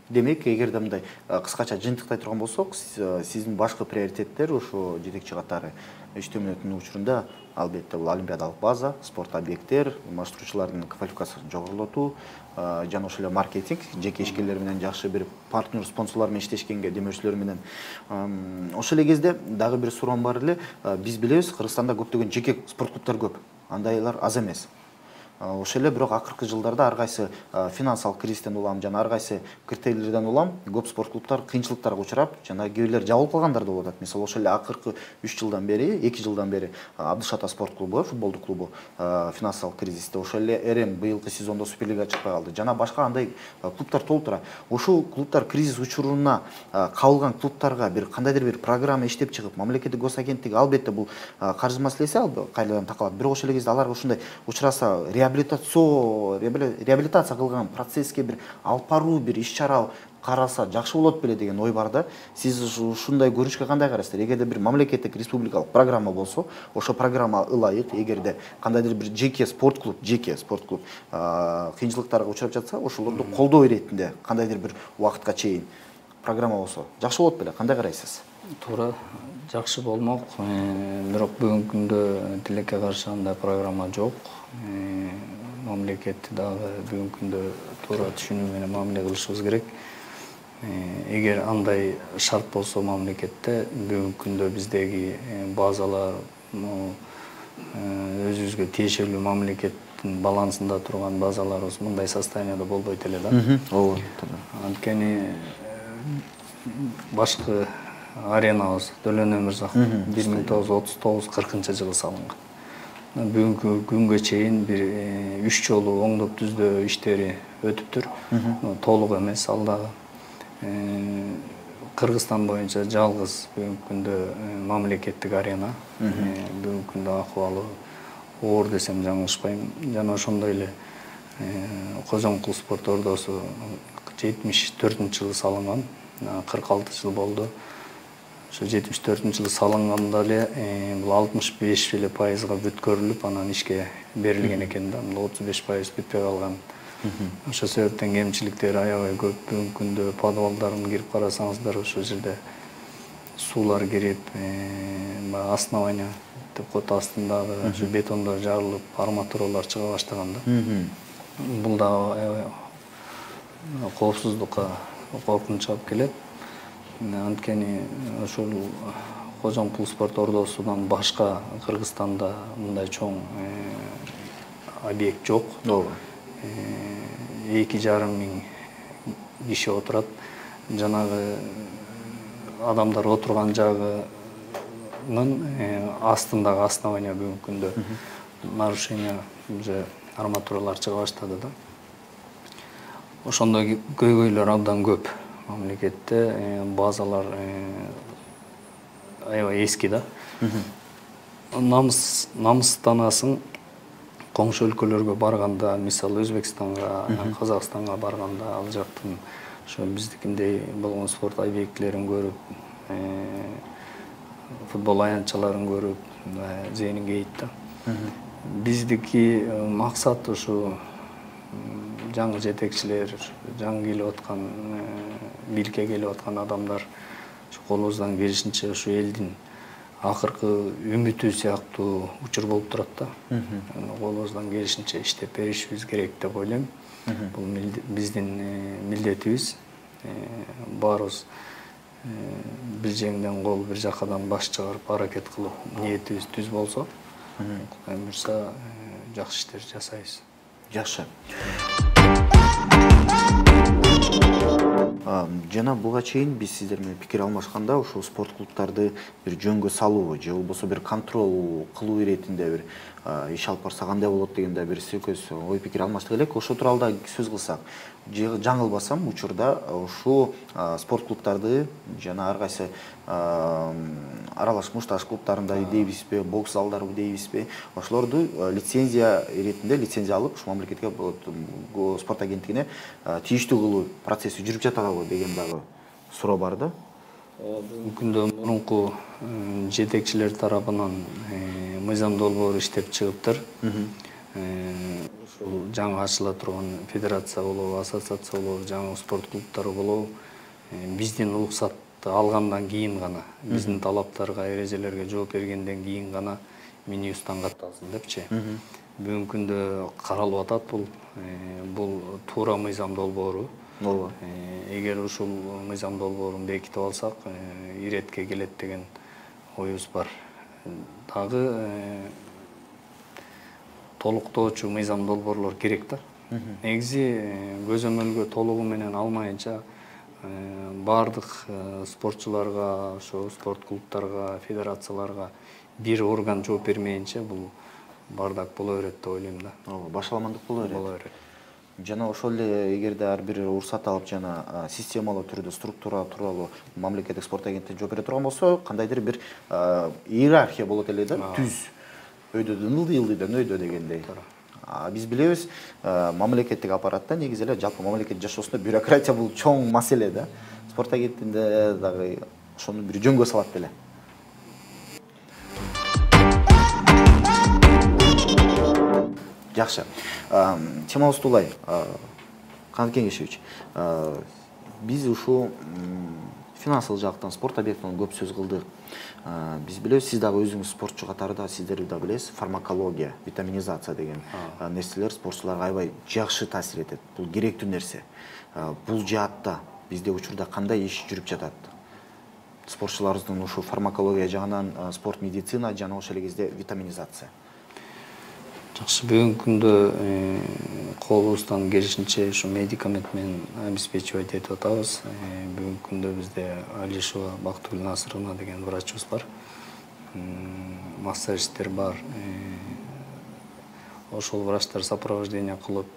демек, эгерде мындай кыскача жыйынтыктай турган болсок, сиздин башкы приоритеттер ушу жетекчи катары иштөөнүн учурунда албетте бул олимпиадалык база, спорт объекттер, маштуучулардын квалификациясын жогорулатуу жана ошол эле маркетинг, жеке ишкерлер менен жакшы бир партнер спонсорлор менен иштешкенге, демөөрчүлөр менен. Ошол эле кезде дагы бир суроом бар эле. Биз билебиз, Кыргызстанда көптөгөн жеке спорт клубтар көп. Андайлар аз эмес. Ошол эле бирок акыркы жылдарда ар кайсы финансылык кризистен улам жана ар кайсы критерийлерден улам көп спорт клубтар кыйынчылыктарга учурап, жана кээ бирлер жабылып калгандар да болуп атат. Мисалы ошол эле акыркы 2 жылдан бери Абдыш Ата спорт клубу, футболдук клубу финансылык кризисте, ошол эле РМ быйылкы сезондо Суперлига чыкпай калды. Жана башка андай клубтар толтура. Ошол клубтар кризис учуруна кабылган клубтарга бир кандайдыр бир программа иштеп чыгып, мамлекеттик госагенттик албетте бул каржы маселеси кайрадан такалат. Бирок ошол эле кезде аларга ушундай учураса реабилитация кылган процесске бир алып баруу, бир иш-чара караса жакшы болот беле деген ой бар да. Сиз ушундай көрүнүшкө кандай карайсыздар? Эгерде бир мамлекеттик республикалык программа болсо, ошол программа ылайык, эгерде кандайдыр бир жеке спорт клуб кыйынчылыктарга учурап жатса, ошолорду колдоо иретинде кандайдыр бир убакытка чейин программа болсо жакшы болот беле? Кандай карайсыз? Туура, жакшы болмок. Бирок бүгүнкү күндө тилекке каршы андай программа жок. Мамлекет дагы бүгүнкү күндө туура түшүнүү менен мамиле кылышыбыз керек. Эгер андай шарт болсо мамлекетте, бүгүнкү күндө биздеги базалар өзүбүзгө тиешелүү мамлекеттин балансында турган базаларыбыз мындай состоянияда болбойт эле да. Ооба. Анткени башкы аренабыз Дөлөн Өмүрзаков 1939-40-жылы салынган. Бүгүнкү күнгө чейин бир 3 жолу оңдоп түздөө иштери өтүптүр. Толук эмес ал дагы. Кыргызстан боюнча жалгыз бүгүнкү күндө мамлекеттик арена. Бүгүнкү күндө акыбалы оор десем жаңылышпайм. Жана ошондой эле Кожоңкул спорт ордосу 74-жылы салынган, 46 жыл болду. Ошо 74-жылы салынганда эле бул 65% бүткөрүлүп, анан ишке берилген экен да. 35% бүтпөй калган. Ошол себептен кемчиликтери аябай көп. Бүгүнкү күндө подвалдарын кирип карасаңыздар, ошол жерде суулар кирип, основание кантип кот астындагы ушу бетондор жарылып, арматуралар чыга баштаганда. Бул да коопсуздукка коркунуч алып келет. Анткени ошол Кожомкул спорт ордосунан башка Кыргызстанда мындай чоң объект жок. 2,5 миң киши отурат. Жанагы адамдар отурган жагынын астындагы основание бүгүнкү күндө нарушение уже арматуралар чыга баштады да. Ошондой көйгөйлөр абдан көп. Мамлекетте базалар аябай эски да. Намыстанасың коңшу өлкөлөргө барганда, мисалы Өзбекстанга, Казакстанга барганда ал жактын ошо биздикиндей болгон спорт объектилерин көрүп, футбол аянтчаларын көрүп, зээниң кейит да. Биздики максат ушу жаңы жетекчилер, жаңы келип аткан, биликке келип аткан адамдар колубуздан келишинче ушу элдин акыркы үмүтү сыяктуу учур болуп турат да. Колубуздан келишинче иштеп беришибиз керек деп ойлойм. Бул биздин милдетибиз. Баарыбыз бир жеңден кол, бир жакадан баш чыгарып аракет кылып, ниетибиз түз болсо, Кудай буйрса жакшы иштер жасайбыз. Жакшы. Жана буга чейин биз сиздер менен пикир алмашканда ушул спорт клубдарды бир жөнгө салуу же болбосо бир контроль кылуу иретинде бир иш алып барса кандай болот дегенде бир сөкөс ой пикир алмаштык элек. Ошол тууралуу да сөз кылсак, жаңылбасам учурда ушул спорт клубдарды жана ар кайсы аралаш мушташ клубдарында дейбизби, бокс залдарыбы дейбизби, ошолорду лицензия иретинде лицензия алып, ушу мамлекетке спорт агенттигине тийиштүү кылуу процесси жүрүп жатабы деген дагы суроо бар да. Бүгүнкү күндө мурунку жетекчилер тарабынан мыйзам долбоору иштеп чыгыптыр. Ушул жаңы ачыла турган федерация болобу, ассоциация болобу, жаңы спорт клубдары болобу, биздин уруксатты алгандан кийин гана, биздин талаптарга, эрежелерге жооп бергенден кийин гана Минюстан катталсын депчи. Бүгүнкү күндө каралып атат бул туура мыйзам долбоору. Эгер ушул мыйзам долбоорун бекитип алсак, иретке келет деген оюбуз бар. Дагы толуктоочу мыйзам долбоорлор керек да. Негизи көзөмөлгө толугу менен алмайынча бардык спортчуларга, ошо спорт клубдарга, федерацияларга бир орган жооп бермейинче бул бардак боло берет деп ойлойм да. Башаламандык боло берет. Жана ошол эле эгерде ар бир уруксат алып жана системалуу түрдө структура тууралуу мамлекеттик спорт агенттиги жооп бере турган болсо, кандайдыр бир иерархия болот эле да, түз. Өйдөдөн ылдый өйдө дегендей. Биз билебиз, мамлекеттик аппаратта негизи эле жалпы мамлекет жашоосунда бюрократия бул чоң маселе да. Спорт агенттигинде дагы ошону бир жөнгө салат беле. Жакшы. Темабыз улай. Канат Кеңешевич, биз ушул финансылык жактан спорт объектинен көп сөз кылдык. Биз билебиз, сиз дагы өзүңүз спортчу катарында сиздер да билесиз, фармакология, витаминизация деген нерселер спортчуларга аябай жакшы таасир этет. Бул керектүү нерсе. Бул жаатта бизде учурда кандай иш жүрүп жатат? Спортчуларыбыздын ушул фармакология жагынан спорт медицина жана ошол эле кезде витаминизация. Жакшы, бүгүнкү күндө колубуздан келишинче ушу медикамент менен обеспечивать этип атабыз. Бүгүнкү күндө бизде Алишева Бактыгүл Насыровна деген врачыбыз бар. Массажисттер бар. Ошол врачтар сопровождение кылып,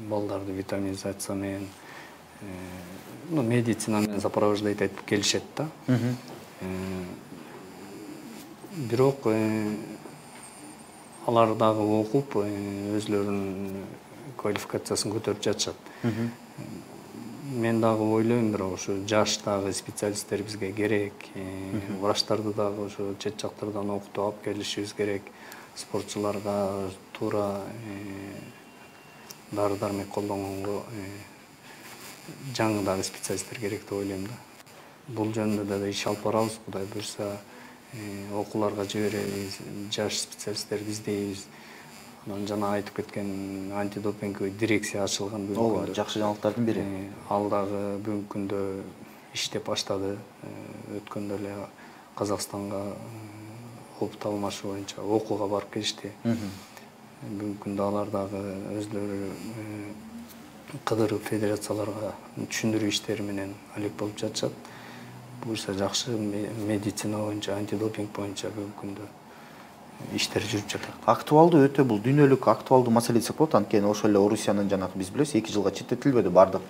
балдарды витаминизация менен, медицина менен сопровождать этип келишет да. Бирок алар дагы окуп, өзлөрүнүн квалификациясын көтөрүп жатышат. Мен дагы ойлойм, бирок ошо жаш дагы специалисттер бизге керек. Врачтарды дагы ошо чет жактардан окутуп алып келишибиз керек. Спортчуларга туура дары-дармек колдонгонго жаңы дагы специалисттер керек деп ойлойм да. Бул жөнүндө да иш алып барабыз. Кудай буйрса, окууларга жиберебиз, жаш специалисттерди издейбиз. Анан жана айтып кеткен антидопинговый дирекция ачылган бүгүнкү күндө. Жакшы жаңылыктардын бири. Ал дагы бүгүнкү күндө иштеп баштады. Өткөндө эле Казакстанга опыт алмашуу боюнча окууга барып келишти. Бүгүнкү күндө алар дагы өздөрү кыдыруу федерацияларга түшүндүрүү иштери менен алек болуп жатышат. Буюрса жакшы медицина боюнча, антидопинг боюнча бүгүнкү күндө иштер жүрүп жатат. Актуалдуу өтө бул дүйнөлүк актуалдуу маселе десек болот. Анткени ошол эле Орусиянын жанагы биз билебиз 2 жылга четтетилбеди бардык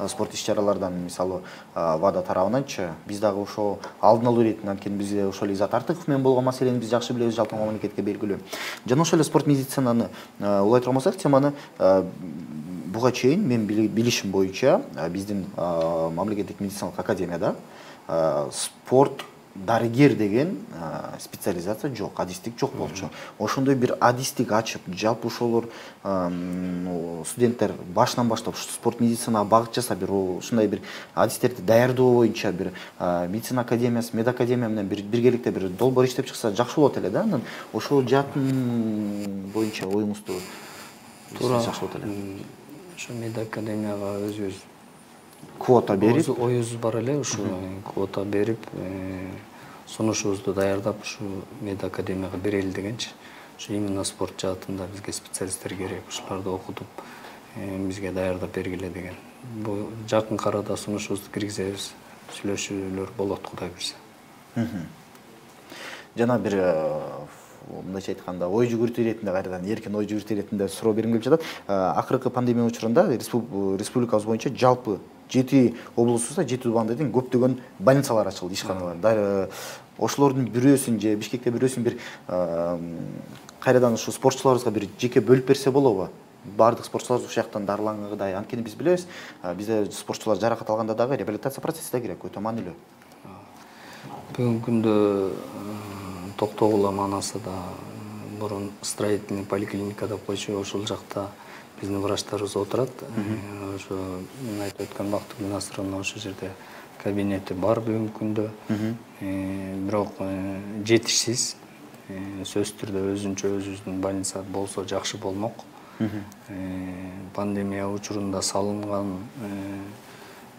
спорт иш-чаралардан, мисалы ВАДА тарабынанчы. Биз дагы ошол алдын алуу иретин, анткени бизде ошол Изат Артыков менен болгон маселени биз жакшы билебиз, жалпы мамлекетке белгилүү. Жана ошол эле спорт медицинаны улайтыр болсок, теманы буга чейин мен билишим боюнча биздин мамлекеттик медициналык академияда спорт дарыгер деген специализация жок, адистик жок болчу. Ошондой бир адистик ачып, жалпы ошолор студенттер башынан баштап спорт медицинага багыт жасап, ушундай бир адистерди даярдоо боюнча бир медицина академиясы, медакадемия менен биргеликте бир долбоор иштеп чыкса жакшы болот эле да. Анан ошол жаатын боюнча оюңузду жакшы болот эле. Ошо медакадемияга өзүбүз квота берип, оюбуз бар эле, ушу квота берип, сунушубузду даярдап ушу медакадемияга берели дегенчи. Ушу именно спорт жаатында бизге специалисттер керек, ушуларды окутуп бизге даярдап бергиле деген. Бул жакын арада сунушубузду киргизебиз, сүйлөшүүлөр болот, Кудай буйрса. Жана бир мындайча айтканда ой жүгүртүү иретинде, кайрадан эркин ой жүгүртүү иретинде суроо бергим келип жатат. Акыркы пандемия учурунда республикабыз боюнча жалпы 7 облусубузда 7 тубандын көптөгөн больницалар ачылды, ишканалар. Ошолордун бирөөсүн же Бишкекте бирөөсүн бир кайрадан ушу спортчуларыбызга бир жеке бөлүп берсе болобу? Бардык спортчулар ушул жактан дарылангандай. Анткени биз билебиз, бизде спортчулар жаракат алганда дагы реабилитация процесси да керек, өтө маанилүү. Бүгүнкү күндө Токтогул манасыда мурун строительный поликлиника деп койчу, ошол жакта биздин врачтарыбыз отурат. Ошо мен айтып өткөн Бактыгүл Насыровна ошол жерде кабинети бар бүгүнкү күндө. Бирок жетишсиз. Сөзсүз түрдө өзүбүздүн больница болсо жакшы болмок. Пандемия учурунда салынган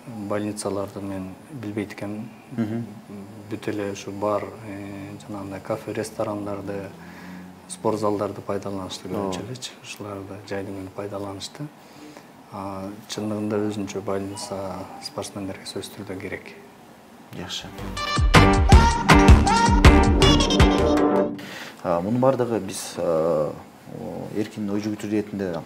больницаларды мен билбейт экенмин. Бүт эле ушу бар жанагындай кафе, ресторандарды, спорт залдарды пайдаланышты көрүнчү элечи. Ушуларды жайдын күнү пайдаланышты. Чындыгында өзүнчө больница спортсмендерге сөзсүз түрдө керек. Жакшы. Мунун бардыгы биз эркин ой жүгүртүү иретинде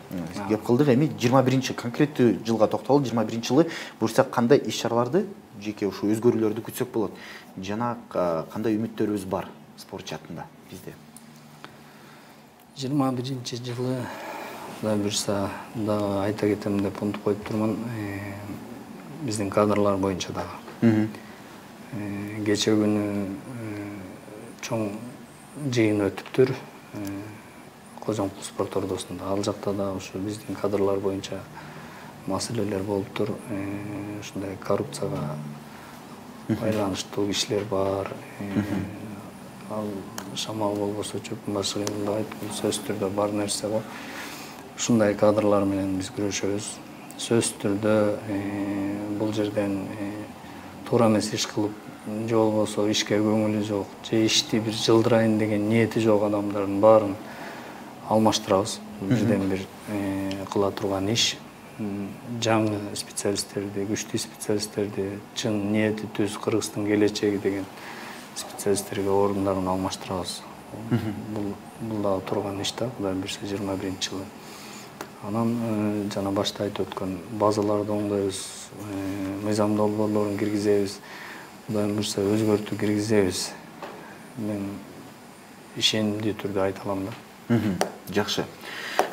кеп кылдык. Эми 21 конкреттүү жылга токтолуп, 21 жылы буюрса кандай иш-чараларды, жеке ушу өзгөрүүлөрдү күтсөк болот? Жана кандай үмүттөрүбүз бар спорт жаатында бизде? 21 жылы Кудай буйрса дагы айта кетем деп унутуп коюп турмун. Биздин кадрлар боюнча дагы. Кече күнү чоң жыйын өтүптүр. Кожомкул спорт ордосунда. Ал жакта да ушу биздин кадрлар боюнча маселелер болуптур. Ушундай коррупцияга байланыштуу кишилер бар. Ал шамал болбосо чөптүн башы кыйын деп айтып, сөзсүз түрдө бар нерсе го. Ушундай кадрлар менен биз күрөшөбүз. Сөзсүз түрдө бул жерден туура эмес иш кылып, же болбосо ишке көңүлү жок, же ишти бир жылдырайын деген ниети жок адамдардын баарын алмаштырабыз. Бирден бир кыла турган иш. Жаңы специалисттерди, күчтүү специалисттерди, чын ниети түз Кыргыздын келечеги деген специалисттерге орундарын алмаштырабыз. Бул дагы турган иш да, Кудай буйрса 21 жылы. Анан жана башта айтып өткөн базаларды оңдойбуз, мыйзам долбоорлорун киргизебиз. Кудай буйрса өзгөртүү киргизебиз. Мен ишенимдүү түрдө айта алам да. Жакшы.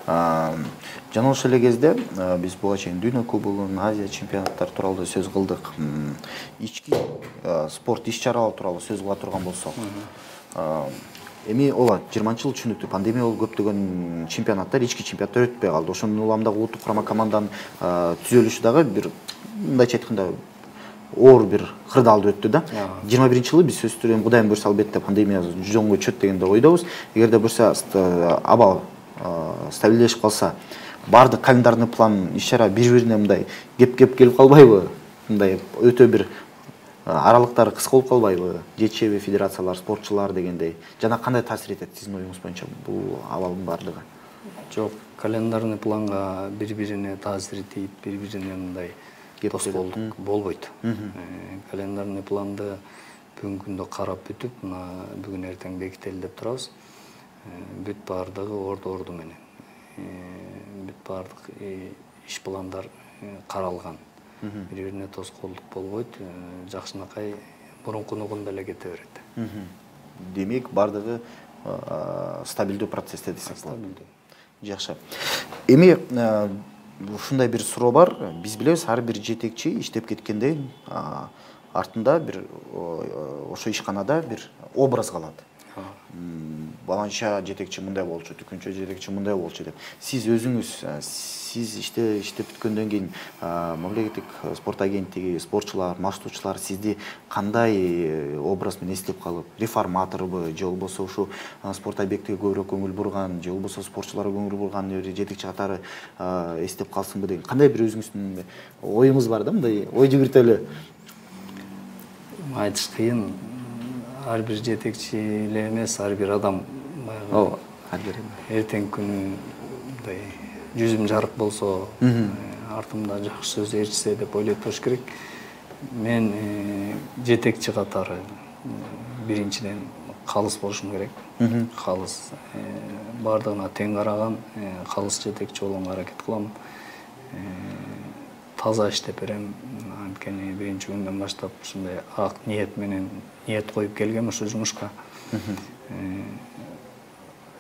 Жана ошол эле кезде биз буга чейин Дүйнө кубогун, Азия чемпионаттары тууралуу сөз кылдык. Ички спорт иш-чаралар тууралуу сөз кыла турган болсок, эми ооба 20-жыл түшүнүктүү пандемия болуп көптөгөн чемпионаттар, ички чемпионаттар өтпөй калды. Ошонун уламдагы улуттук курама команданын түзөлүшү дагы бир мындайча айтканда оор бир кырдаалды өттү да. 21-жылы биз сөзсүз түрдө Кудайым буйрса албетте пандемия жонго чөт дегенде ойдобуз. Эгерде буйрса аба стабилдешип калса, бардык календарный план иш-чара бири-бирине мындай кеп келип калбайбы? Мындай өтө бир аралыктары кыска болуп калбайбы? Жетишеби федерациялар, спортчулар дегендей. Жана кандай таасир этет сиздин оюңуз боюнча бул абалдын бардыгы? Жок, календарный планга бири-бирине таасир этип, бири-бирине мындай тоскоолдук болбойт. Календарный планды бүгүнкү күндө карап бүтүп, мына бүгүн эртең бекители деп турабыз. Бүт бардыгы орду менен. Бүт бардык иш пландар каралган. Бири-бирине тоскоолдук болбойт. Жакшынакай мурункунугунда эле кете берет. Демек, бардыгы стабилдүү процессте десек болот. Стабилдүү. Жакшы. Эми ушундай бир суроо бар. Биз билебиз, ар бир жетекчи иштеп кеткенден артында бир ошо ишканада бир образ калат. Баланча жетекчи мындай болчу, түкүнчө жетекчи мындай болчу деп. Сиз өзүңүз, сиз иштеп бүткөндөн кийин мамлекеттик спорт агенттиги, спортчулар, маршрутчулар сизди кандай образ менен эстеп калып, реформаторбу, же болбосо ушу спорт объектиге көбүрөөк көңүл бурган, же болбосо спортчуларга көңүл бурган жетекчи катары эстеп калсынбы деген кандай бир өзүңүздүн оюңуз бар да, мындай ой жүгүртөлү? Айтыш кыйын. Ар бир жетекчи эле эмес, ар бир адам эртең күнү мындай жүзүм жарык болсо, артымда жакшы сөз ээрчисе деп ойлойт болуш керек. Мен жетекчи катары биринчиден калыс болушум керек. Калыс, бардыгына тең караган, калыс жетекчи болгонго аракет кылам. Таза иштеп берем. Анткени биринчи күндөн баштап ушундай ак ниет менен ниет коюп келгем ушу жумушка.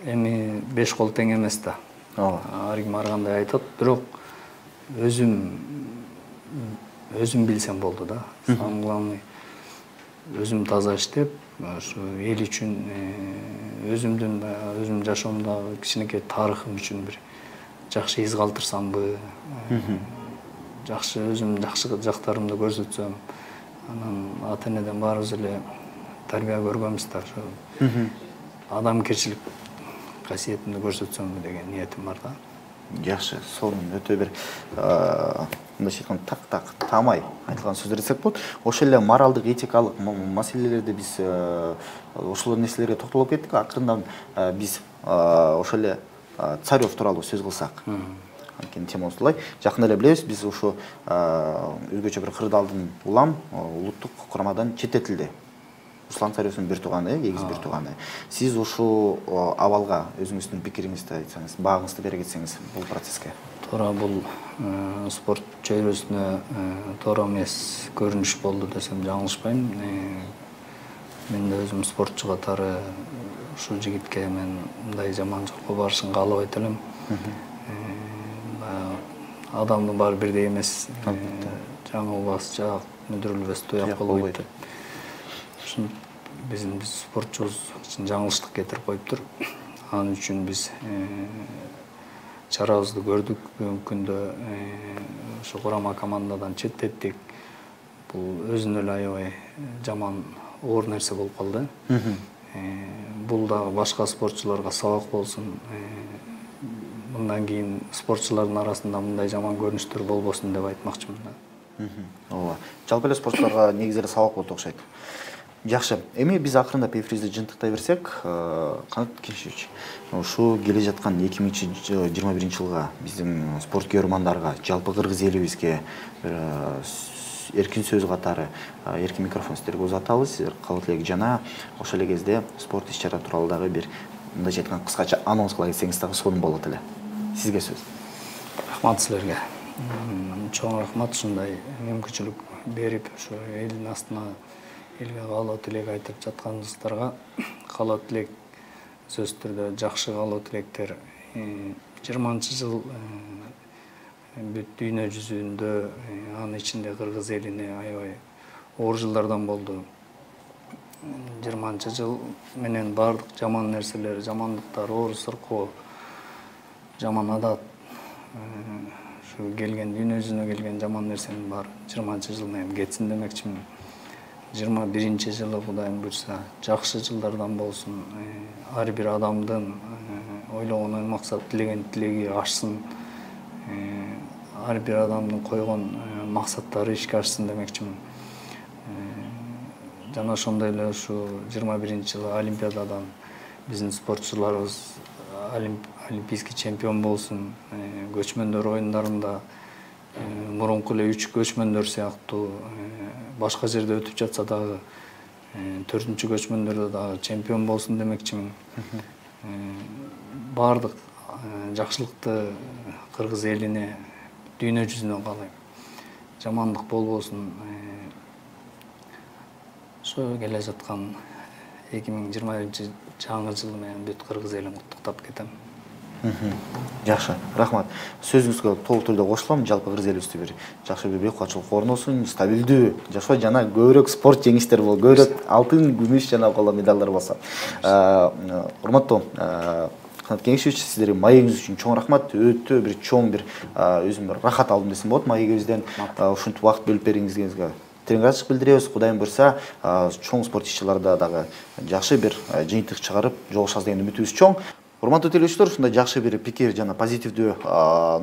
Эми 5 кол тең эмес да. Ар ким ар кандай айтат, бирок өзүм билсем болду да. Самый главный өзүм таза иштеп, ушу эл үчүн, өзүм жашоомдогу кичинекей тарыхым үчүн бир жакшы из калтырсамбы, жакшы өзүм жакшы жактарымды көрсөтсөм, анан ата-энеден баарыбыз эле тарбия көргөнбүз да, адамгерчилик касиетимди көрсөтсөмбү деген ниетим бар да. Жакшы, сонун өтө бир мындайча айтканда так таамай айтылган сөздөр десек болот. Ошол эле моралдык, этикалык маселелерди биз ошол нерселерге токтолуп кеттик. Акырындан биз ошол эле Царев тууралуу сөз кылсак. Анткени темабыз булай. Жакында эле билебиз, биз ушу өзгөчө бир кырдаалдын улам улуттук курамадан четтетилди. Руслан Царевдин бир тууганы, эгиз бир тууганы. Сиз ушу абалга өзүңүздүн пикириңизди айтсаңыз, баагыңызды бере кетсеңиз бул процесске. Туура, бул спорт чөйрөсүнө туура эмес көрүнүш болду десем жаңылышпайм. Мен да өзүм спортчу катары ушул жигитке мен мындай жаман жолго барышын каалабайт элем. Адамдын баары бирдей эмес. Жаңылбас жак, мүдүрүлбөс туяк болбойт. Ушун биздин спортчубуз жаңылыштык кетирип коюптур. Анын үчүн биз чарабызды көрдүк. Бүгүнкү күндө ушу курама командадан четтеттик. Бул өзүнө эле аябай жаман оор нерсе болуп калды. Бул дагы башка спортчуларга сабак болсун. Мындан кийин спортчулардын арасында мындай жаман көрүнүштөр болбосун деп айтмакчымын да. Ооба. Жалпы эле спортчуларга негизи эле сабак болот окшойт. Жакшы. Эми биз акырындап эфирибизди жыйынтыктай берсек, Канат Кеншевич, ушу келе жаткан 2021 жылга биздин спорткер мамандарга, жалпы кыргыз элибизге эркин сөз катары, эркин микрофон сиздерге узатабыз. Сиздер кабыл элек жана ошол эле кезде спорт иш-чара тууралуу дагы бир мындайча айтканда кыскача анонс кыла кетсеңиз дагы сонун болот эле. Сизге сөз. Рахмат силерге. Чоң рахмат ушундай мүмкүнчүлүк берип, ушу элдин астына элге каалоо тилек айтып жатканыңыздарга каалоо тилек сөзсүз түрдө жакшы каалоо тилектер. 20-жыл бүт дүйнө жүзүндө, анын ичинде кыргыз элине аябай оор жылдардан болду. 20-жыл менен бардык жаман нерселер, жамандыктар, оор сыркоо, жаман адат, ушу келген дүйнө жүзүнө келген жаман нерсенин баары 20-жылына эми кетсин демекчимин. 21-жылы Кудайым буйрса жакшы жылдардан болсун. Ар бир адамдын ойлогон ой максат тилеген тилеги ашсын. Ар бир адамдын койгон максаттары ишке ашсын демекчимин. Жана ошондой эле ушу 21-жылы Олимпиададан биздин спортчуларыбыз олимпийский чемпион болсун. Көчмөндөр оюндарында мурунку эле 3 көчмөндөр сыяктуу башка жерде өтүп жатса дагы 4-чү көчмөндөрдө дагы чемпион болсун демекчимин. Баардык жакшылыкты кыргыз элине, дүйнө жүзүнө каалайм. Жамандык болбосун. Ошо келе жаткан 2021 жаңы жылы менен бүт кыргыз элин куттуктап кетем. Жакшы, рахмат. Сөзүңүзгө толук түрдө кошулам. Жалпы кыргыз элибизде бир жакшы бир кубатчылык орносун, стабилдүү жашоо жана көбүрөөк спорт жеңиштер болсун, көбүрөөк алтын, күмүш жана коло медалдар болсо. Урматтуу Канат Кеңешевич, сиздерге маегиңиз үчүн чоң рахмат. Өтө бир чоң бир өзүм бир рахат алдым десем болот маегибизден. Ушинтип убакыт бөлүп бериңизге терең ыраазычылык билдиребиз. Кудайым буйрса, чоң спорт иш-чараларда дагы жакшы бир жыйынтык чыгарып жолугушабыз деген үмүтүбүз чоң. Урматтуу телеөрүүчүлөр, ушундай жакшы бир пикир жана позитивдүү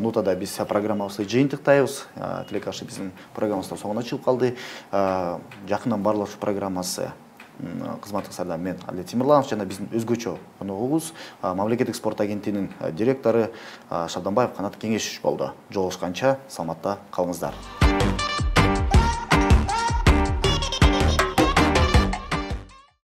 нотада биз программабызды жыйынтыктайбыз. Тилекаши биздин программабызда соңуна чыгып калды. Жакындан баарлашуу программасы кызматыңыздарда мен Адлет Тимирланов жана биздин өзгөчө коногубуз Мамлекеттик спорт агенттигинин директору Шабданбаев Канат Кеңешевич болду. Жолугушканча саламатта калыңыздар.